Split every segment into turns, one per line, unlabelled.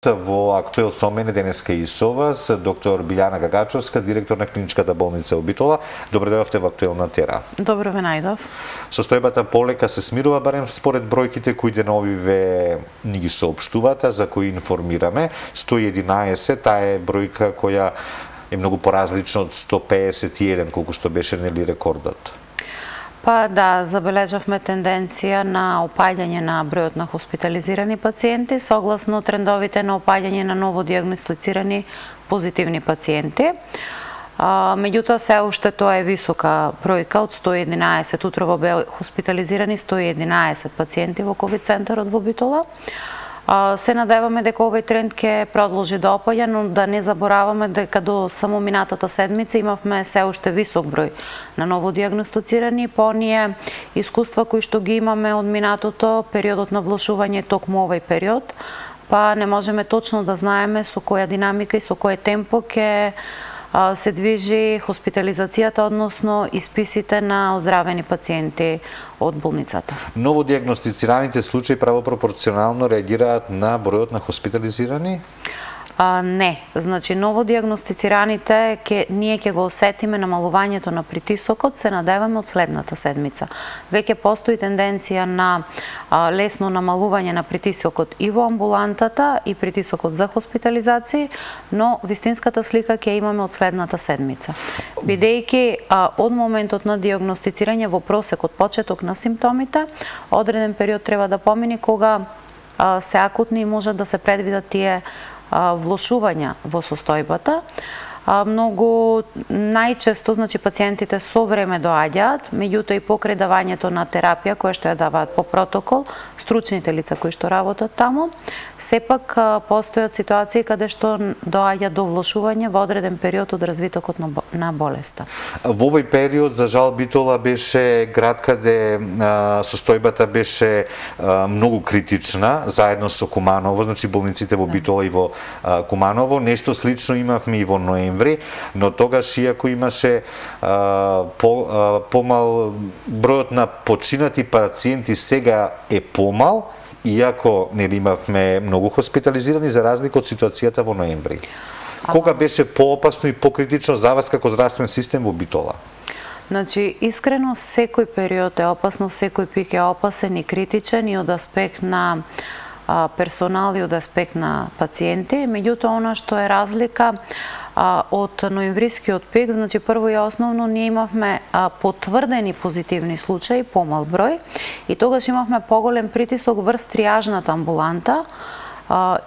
Во Актуел со мене денеска и со вас доктор Билјана Гагачовска, директор на клиничката болница во Битола. Добро дојдовте во Актуелна тера.
Добро ве најдов.
Состојбата полека се смирува, барем според бројките кои денови ве ни ги соопштувате, за кои информираме. 111, таа е бројка која е многу поразлична од 151, колку што беше нели рекордот.
Па да, забележавме тенденција на опаѓање на бројот на хоспитализирани пациенти, согласно трендовите на опаѓање на ново диагностицирани позитивни пациенти. Меѓутоа, се уште тоа е висока бројка од 111. Утрово беа хоспитализирани 111 пациенти во ковид центарот во Битола. Се надеваме дека овој тренд ќе продолжи да опаѓа, но да не забораваме дека до само минатата седмица имавме се уште висок број на ново диагностицирани. По оние искуства кои што ги имаме од минатото, периодот на влошување токму овој период, па не можеме точно да знаеме со која динамика и со кој темпо ќе се движи хоспитализацијата, односно исписите на оздравени пациенти од болницата.
Ново диагностицираните случаи правопропорционално реагираат на бројот на хоспитализирани?
Не, значи ново диагностицираните ние ќе го осетиме намалувањето на притисокот, се надеваме од следната седмица. Веќе постои тенденција на лесно намалување на притисокот и во амбулантата и притисокот за хоспитализација, но вистинската слика ќе имаме од следната седмица. Бидејќи од моментот на диагностицирање во просек од почеток на симптомите, одреден период треба да помине кога се акутни и може да се предвидат тие влошувања во состојбата. Многу најчесто, значи, пациентите со време доаѓаат, меѓутоа и покрај давањето на терапија која што ја даваат по протокол, стручните лица кои што работат таму, сепак постојат ситуации каде што доаѓа до влошување во одреден период од развитокот на болеста.
Во овој период, за жал, Битола беше град каде состојбата беше многу критична, заедно со Куманово, значи болниците во Битола и во Куманово. Нешто слично имавме и во ноември, но тогаш иако имаше помал бројот на починати пациенти сега е помал, иако нели имавме многу хоспитализирани за разлика од ситуацијата во ноември. Кога беше поопасно и покритично за вас како здравствен систем во Битола?
Значи, искрено, секој период е опасно, секој пик е опасен и критичен и од аспект на персонал и од аспект на пациенти. Меѓутоа, она што е разлика од ноемврискиот пик, значи прво и основно ние имавме потврдени позитивни случаи, помал број, и тогаш имавме поголем притисок врз триажната амбуланта,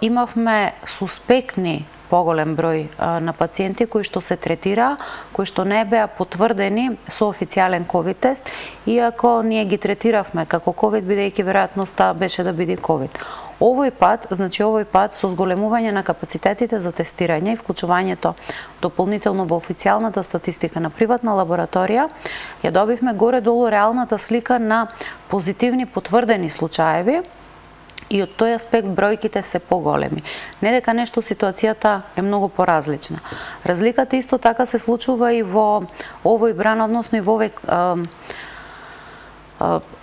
имавме суспектни поголем број на пациенти кои што се третира, кои што не беа потврдени со официјален ковид тест, иако ние ги третиравме како ковид, бидејќи веројатноста беше да биде ковид. Овој пат со зголемување на капацитетите за тестирање и вклучувањето дополнително во официјалната статистика на приватна лабораторија, ја добивме горе-долу реалната слика на позитивни потврдени случаеви, и од тој аспект бројките се поголеми. Не дека нешто ситуацијата е многу поразлична. Разликата исто така се случува и во овој бран, односно и во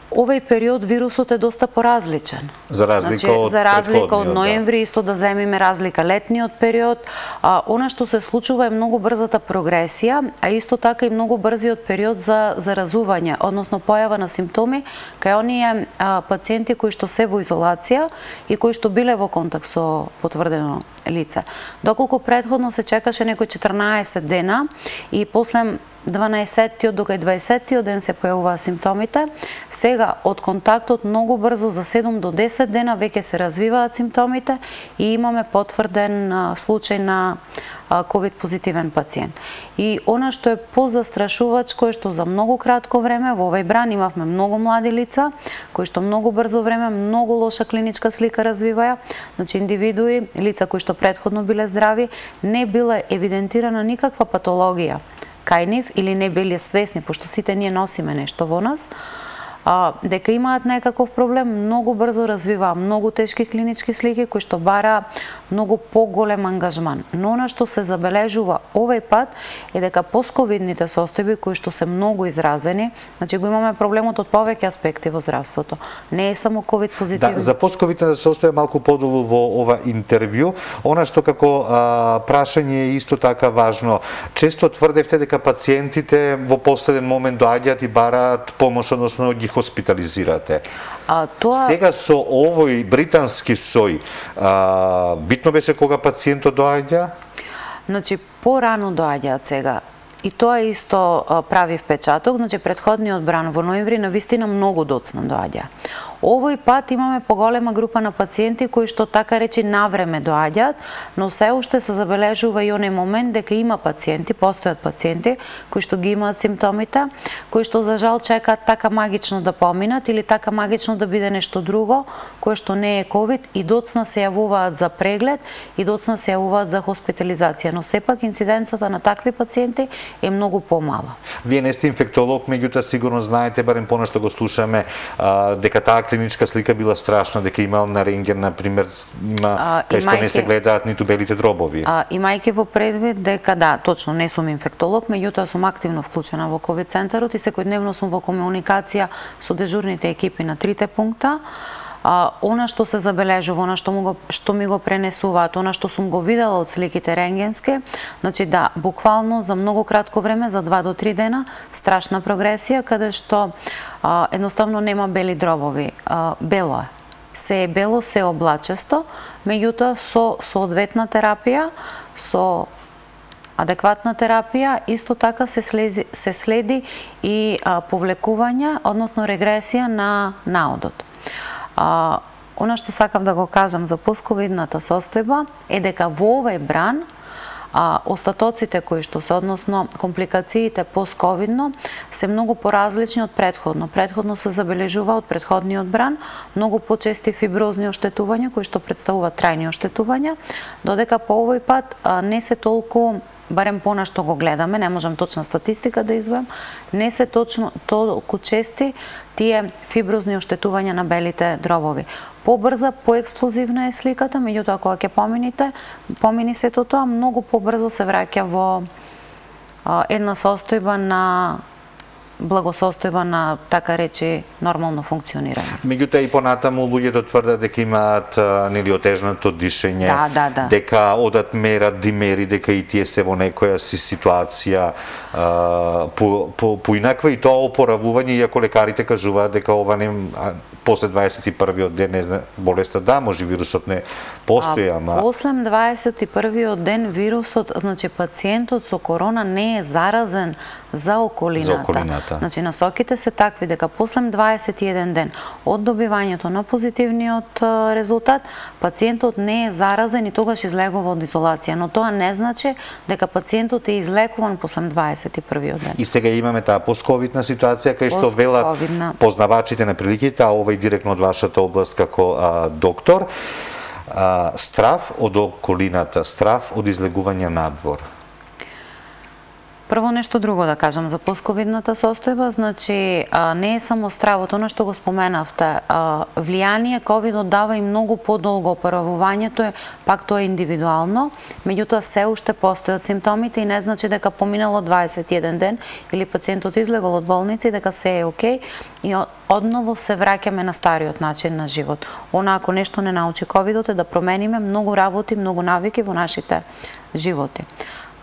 овој период вирусот е доста поразличен.
За разлика
од ноември, исто да земиме разлика летниот период, она што се случува е многу брзата прогресија, а исто така и многу брзиот период за заразување, односно појава на симптоми кај оние пациенти кои што се во изолација и кои што биле во контакт со потврдено лице. Доколку претходно се чекаше некои 14 дена и после 12-тиот до 20-тиот ден се појавуваа симптомите, сега од контактот многу брзо за 7 до 10 дена веќе се развиваат симптомите и имаме потврден случај на ковид позитивен пациент. И она што е позастрашувачко е што за многу кратко време во овој бран имавме многу млади лица кои што многу брзо време многу лоша клиничка слика развиваја, значи индивидуи, лица кои што претходно биле здрави, не била евидентирана никаква патологија кај нив или не биле свесни, пошто сите ние носиме нешто во нас, дека имаат некаков проблем, многу брзо развиваа многу тешки клинички слики кои што бара многу поголем ангажман. Но она што се забележува овој пат е дека постковидните состојби кои што се многу изразени, значи го имаме проблемот од повеќе аспекти во здравството. Не е само ковид позитивни.
Да, за постковидните состојби малку подолу во ова интервју, она што како прашање е исто така важно. Често тврдевте дека пациентите во последен момент доаѓаат и бараат помош, односно ги хоспитализирате. Сега со овој британски сој, битно беше кога пациентот доаѓа?
Значи, порано доаѓаат сега. И тоа исто прави впечаток, значи претходниот бран во ноември навистина многу доцна доаѓа. Овој пат имаме поголема група на пациенти кои што така речи навреме доаѓаат, но се уште се забележува и оној момент дека има пациенти, постојат пациенти кои што ги имаат симптомите, кои што за жал чекаат така магично да поминат или така магично да биде нешто друго, кое што не е ковид и доцна се јавуваат за преглед и доцна се јавуваат за хоспитализација, но сепак инциденцата на такви пациенти е многу помала.
Вие не сте инфектолог, меѓутоа сигурно знаете, барем понешто го слушаме, дека таа клиничка слика била страшна, дека имал на рентген, например, кај што не се гледаат ниту белите дробови.
Имајќи во предвид дека да, точно не сум инфектолог, меѓутоа сум активно вклучена во ковид центарот и секојдневно сум во комуникација со дежурните екипи на трите пункта. Она што се забележува, она што ми го пренесуваат, она што сум го видела од сликите рентгенски, значи да, буквално за многу кратко време, за 2 до 3 дена, страшна прогресија, каде што едноставно нема бели дробови. Бело е. Се е бело, се е облачесто, меѓутоа со соодветна терапија, со адекватна терапија, исто така се следи и повлекување, односно регресија на наодот. Она што сакам да го кажам за постковидната состојба е дека во овој бран остатоците кои што се, односно компликациите постковидно, се многу поразлични од претходно. Претходно се забележува од претходниот бран многу почести фиброзни оштетувања кои што представуваат трајни оштетувања, додека по овој пат не се толку, барем по што го гледаме, не можам точна статистика да извадам, не се точно толку чести тие фиброзни оштетувања на белите дробови. Побрза, поексплозивна е сликата, меѓутоа кога ќе помини сето тоа, многу побрзо се враќа во една состојба на благосостојба на, така речи, нормално функционирање.
Меѓутоа и понатаму луѓето тврдат дека имаат нели отежнато дишење, дека одат мерат димери, дека и тие се во некоја си ситуација поинаква и тоа опоравување, иако лекарите кажуваат дека ова не после 21-виот ден не знае болеста, да, може вирусот не постои, ама
после 21-виот ден вирусот, значи пациентот со корона не е заразен за околината. Значи насоките се такви дека после 21 ден од добивањето на позитивниот резултат, пациентот не е заразен и тогаш излегува од изолација, но тоа не значи дека пациентот е излекуван после 21-виот ден.
И сега имаме таа постковидна ситуација кај што велат познавачите на приликите, а ова и директно од вашата област како доктор, страв од околината, страв од излегување надвор.
Прво нешто друго да кажам за постковидната состојба, значи не е само стравот, оно што го споменавте, влијание ковидот дава и многу подолго опоравувањето, пак тоа е индивидуално, меѓутоа се уште постојат симптомите и не значи дека поминало 21 ден или пациентот излегол од болница и дека се е окей и одново се враќаме на стариот начин на живот. Она ако нешто не научи ковидот е да промениме многу работи, многу навики во нашите животи.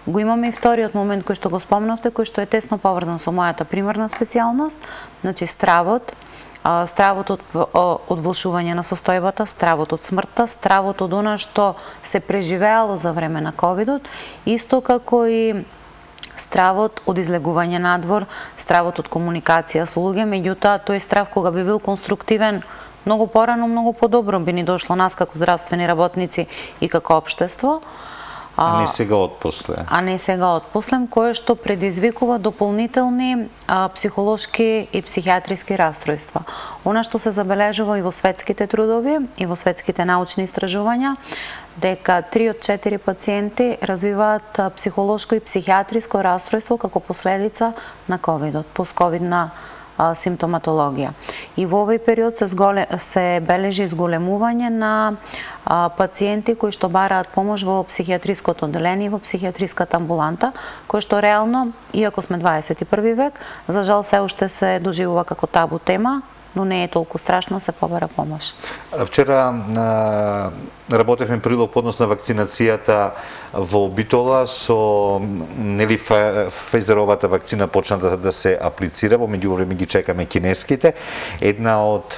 Го имаме и вториот момент кој што го спомнавте, кој што е тесно поврзан со мојата примарна специјалност, значи стравот од влошување на состојбата, стравот од смртта, стравот од она што се преживеало за време на ковидот, исто како и стравот од излегување надвор, стравот од комуникација со луѓе, меѓутоа тој страв кога би бил конструктивен многу порано, многу подобро би ни дошло нас како здравствени работници и како општество.
А не сега отпосле.
Кое што предизвикува дополнителни психолошки и психијатриски расстройства. Она што се забележува и во светските трудови, и во светските научни истражувања, дека 3 од 4 пациенти развиваат психолошко и психијатриско расстройство како последица на ковидот, постковидна симптоматологија. И во овој период се бележи зголемување на пациенти кои што бараат помош во психијатриското одделение и во психијатриската амбуланта, кој што реално, иако сме 21 век, за жал се уште се доживува како табу тема, но не е толку страшно, се побара помош.
Вчера работевме прилог однос на вакцинацијата во Битола со нели Фајзеровата вакцина почна да се аплицира, во меѓувреме ги чекаме кинеските. Една од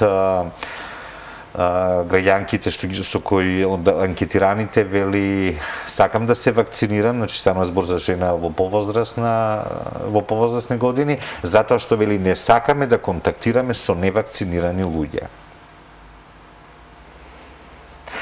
граѓанките со кои анкетираните вели сакам да се вакцинирам, значи станува збор за жена во повозрасни години, затоа што вели не сакаме да контактираме со невакцинирани луѓе.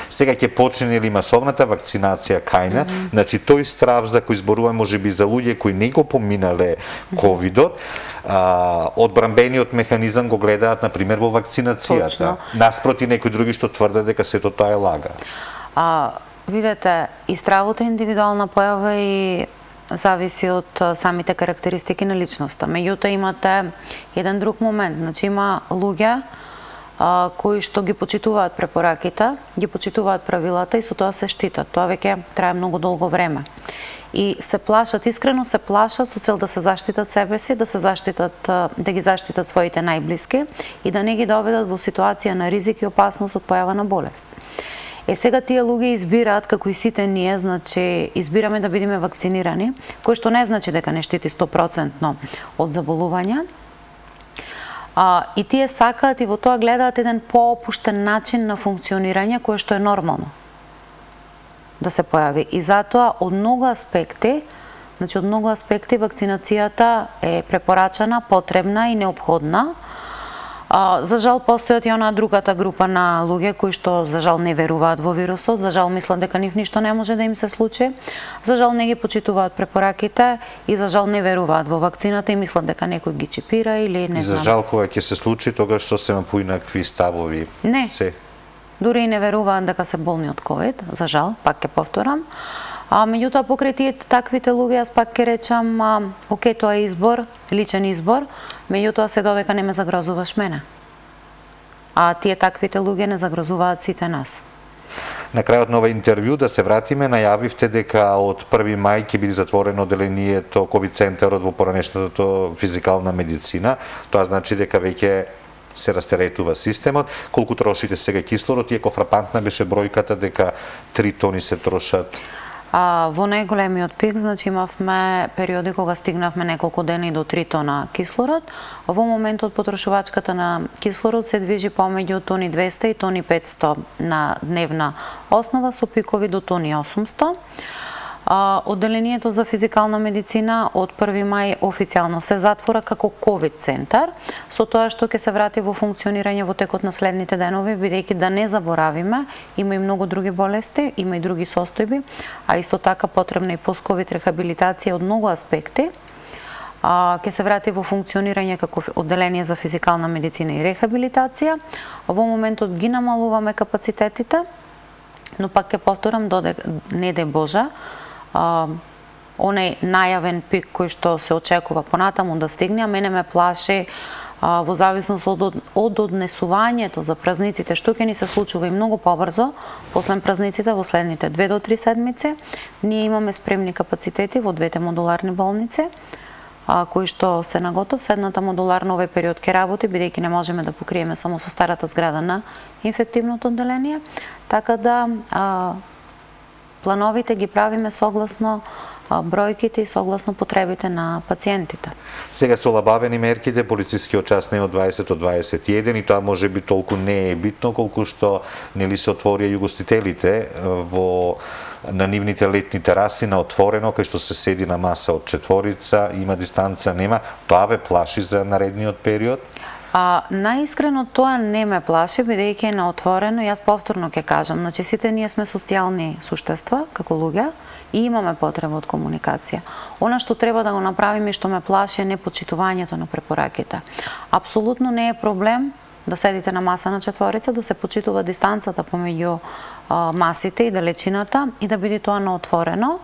Сега ќе почне ли масовната вакцинација кајна, значи тој страв за кој зборуваме можеби за луѓе кои не го поминале ковидот, одбранбениот механизам го гледаат на пример во вакцинацијата, наспроти некои други што тврдат дека сето тоа е лага.
Видете, и стравот е индивидуална појава и зависи од самите карактеристики на личноста. Меѓутоа имате еден друг момент, значи има луѓе кои што ги почитуваат препораките, ги почитуваат правилата и со тоа се штитат. Тоа веќе трае многу долго време. И се плашат, искрено се плашат со цел да се заштитат себе си, да ги заштитат своите најблиски и да не ги доведат во ситуација на ризик и опасност од појава на болест. Сега тие луѓе избираат, како и сите ние, значи избираме да бидеме вакцинирани, кој што не значи дека не штити 100% од заболувања. И тие сакаат и во тоа гледаат еден поопуштен начин на функционирање кој што е нормално да се појави. И затоа од многу аспекти вакцинацијата е препорачана, потребна и неопходна. За жал постојат и онаа другата група на луѓе кои што за жал не веруваат во вирусот, за жал мислат дека ништо не може да им се случи, за жал не ги почитуваат препораките и за жал не веруваат во вакцината и мислат дека некој ги чипира или не знам.
И за жал кога ќе се случи тогаш што се поинакви ставови.
Не. Дури и не веруваат дека се болни од ковид, за жал, пак ќе повторам. Меѓутоа покрај тие таквите луѓе јас пак ќе речам, окей, тоа е избор, личен избор, меѓутоа се додека не ме загрозуваш мене. Тие таквите луѓе не загрозуваат сите нас.
На крајот на ова интервју да се вратиме, најавивте дека од 1 мај ќе биде затворено одделението ковид центарот во поранешната физикална медицина. Тоа значи дека веќе се растеретува системот. Колку трошите сега кислород, иако фрапантна беше бројката дека 3 тони се трошат?
Во најголемиот пик, значи имавме периоди кога стигнавме неколку дена и до 3 тона кислород. Во моментот потрошувачката на кислород се движи помеѓу тони 200 и тони 500 на дневна основа со пикови до тони 800. Одделението за физикална медицина од 1 мај официјално се затвора како ковид центар, со тоа што ќе се врати во функционирање во текот на следните денови, бидејќи да не заборавиме, има и многу други болести, има и други состојби, а исто така потребна и постковид рехабилитација од многу аспекти. Ќе се врати во функционирање како одделение за физикална медицина и рехабилитација. Во моментот ги намалуваме капацитетите, но пак ќе повторам, не дај Боже, онај најавен пик кој што се очекува понатаму да стигне, а мене ме плаши во зависност од однесувањето за празниците, што ќе ни се случува и многу побрзо, после празниците во следните 2 до 3 седмици, ние имаме спремни капацитети во двете модуларни болници, кои што се наготов. Седната модуларна овој период ќе работи, бидејќи не можеме да покриеме само со старата зграда на инфективното одделение, така да плановите ги правиме согласно бројките и согласно потребите на пациентите.
Сега се олабавени мерките, полицискиот час не од 20 до 21 и тоа може би толку не е битно колку што нели се отворија југостителите на нивните летни тераси на отворено, кај што се седи на маса од 4, има дистанца, нема. Тоа ве плаши за наредниот период?
Најискрено тоа не ме плаши, бидејќи е на отворено. Јас повторно ќе кажам, значи сите ние сме социјални суштества како луѓе и имаме потреба од комуникација. Она што треба да го направиме и што ме плаши е непочитувањето на препораките. Апсолутно не е проблем да седите на маса на 4, да се почитува дистанцата помеѓу масите и далечината и да биде тоа на отворено.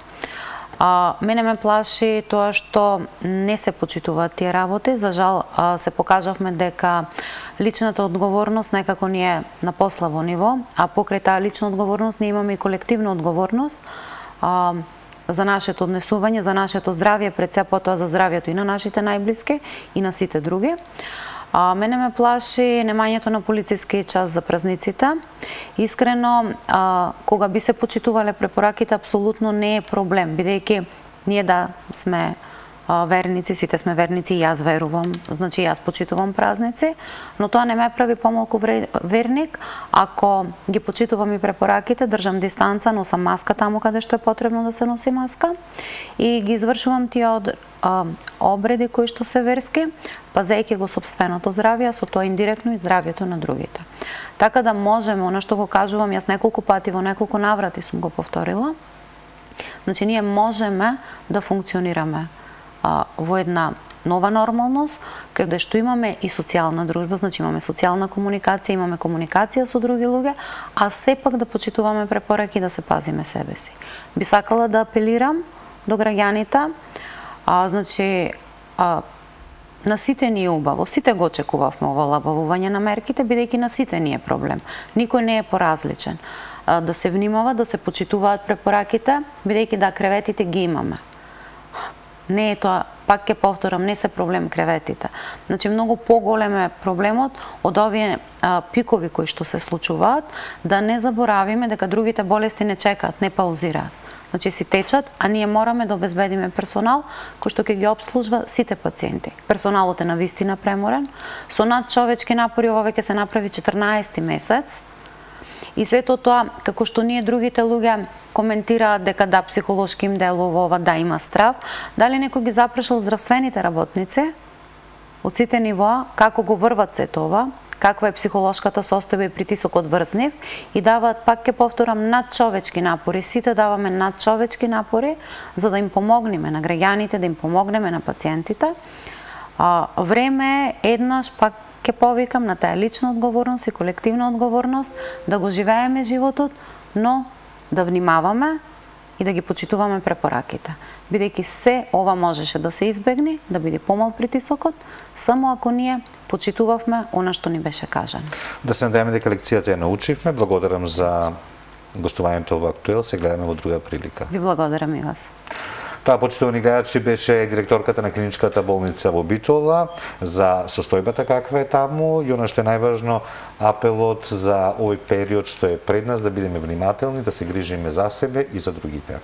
Мене ме плаши тоа што не се почитуваат тие работи. За жал се покажавме дека личната одговорност некако ни е на послабо ниво, а покрај таа лична одговорност ние имаме и колективна одговорност за нашето однесување, за нашето здравје, пред се потоа за здравјето и на нашите најблиски и на сите други. Мене ме плаши немањето на полициски час за празниците. Искрено, кога би се почитувале препораките, апсолутно не е проблем, бидејќи ние да сме верници, сите сме верници, и јас верувам, значи јас почитувам празници, но тоа не ме прави помалку верник ако ги почитувам и препораките, држам дистанца, носам маска таму каде што е потребно да се носи маска и ги извршувам тие обреди кои што се верски, пазејќи го сопственото здравје, а со тоа индиректно и здравјето на другите. Така да можеме, она што го кажувам, јас неколку пати во неколку наврати сум го повторила, значи ние можеме да функционираме во една нова нормалност, каде што имаме и социјална дружба, значи имаме социјална комуникација, имаме комуникација со други луѓе, а сепак да почитуваме препораки и да се пазиме себе си. Би сакала да апелирам до граѓаните, значи на сите ни е убаво, сите го очекувавме ова олабавување на мерките, бидејќи на сите ни е проблем. Никој не е поразличен. Да се внимава, да се почитуваат препораките, бидејќи да, креветите ги имаме. Не е тоа, пак ќе повторам, не се проблем креветите. Значи многу поголем е проблемот од овие пикови кои што се случуваат, да не заборавиме дека другите болести не чекаат, не паузираат. Значи си течат, а ние мораме да обезбедиме персонал кој што ќе ги обслужва сите пациенти. Персоналот е навистина преморен, со надчовечки напори ова веќе се направи 14-ти месец. И сето тоа, како што ние другите луѓе коментираат дека да, психолошки им делува ова, да, има страв, дали некој ги запрашал здравствените работници од сите нивоа, како го врват се тоа, каква е психолошката состојба и притисокот врз нив, и даваат, пак ќе повторам, надчовечки напори. Сите даваме надчовечки напори за да им помогнеме на граѓаните, да им помогнеме на пациентите. Време е еднаш, пак ќе повикам, на таа лична одговорност и колективна одговорност да го живееме животот, но да внимаваме и да ги почитуваме препораките. Бидејќи се ова можеше да се избегне, да биде помал притисокот, само ако ние почитувавме она што ни беше кажано.
Да се надеваме дека лекцијата ја научивме. Благодарам за гостувањето во Актуел. Се гледаме во друга прилика.
Ви благодарам и вас.
Тоа, почитувани гледачи, беше директорката на клиничката болница во Битола за состојбата каква е таму и она што е најважно, апелот за овој период што е пред нас, да бидеме внимателни, да се грижиме за себе и за другите.